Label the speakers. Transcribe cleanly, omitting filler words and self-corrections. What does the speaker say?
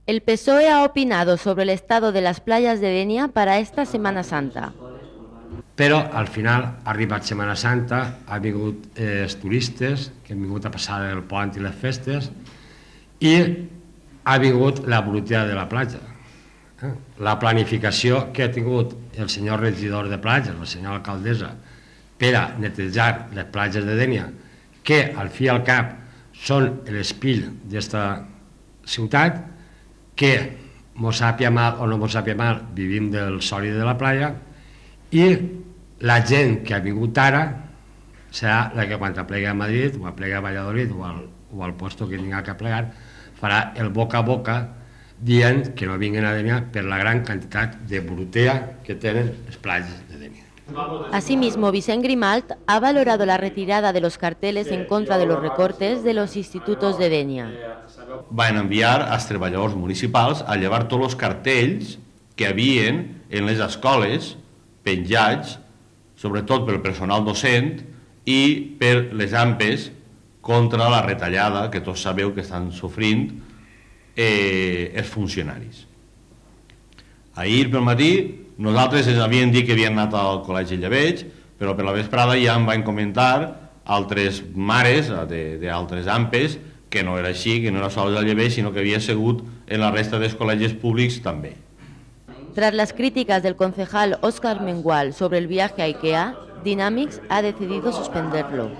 Speaker 1: El PSOE ha opinado sobre el estado de las playas de Denia para esta Semana Santa.
Speaker 2: Però al final ha arribat Setmana Santa, ha vingut els turistes que han vingut a passar el pont i les festes i ha vingut la brutalitat de la platja. La planificació que ha tingut el senyor regidor de platges, la senyora alcaldessa, per a netejar les platges de Dénia, que al fi i al cap són l'espill d'esta ciutat, que mos sàpia mal o no mos sàpia mal, vivim del sòlid de la platja, i la gent que ha vingut ara serà la que quan aplega a Madrid o aplega a Valladolid o al puesto que tinga que plegar farà el boca a boca dient que no vinguin a Dénia per la gran quantitat de brutea que tenen les platges de Dénia.
Speaker 1: Asimismo, Vicent Grimalt ha valorado la retirada de los carteles en contra de los recortes de los institutos de Denia.
Speaker 3: Van enviar als treballadors municipals a llevar tots els cartells que havien en les escoles penjats, sobretot pel personal docent i per les AMPes contra la retallada que tots sabeu que estan sofrint els funcionaris. Ahir pel matí nosaltres ens havien dit que havien anat al Col·legi Llebeig, però per la vesprada ja em van comentar altres mares d'altres AMPes que no era així, que no era sols al Llebeig, sinó que havia sigut en la resta dels col·legis públics també.
Speaker 1: Tras las críticas del concejal Óscar Mengual sobre el viaje a IKEA, Dynamics ha decidido suspenderlo.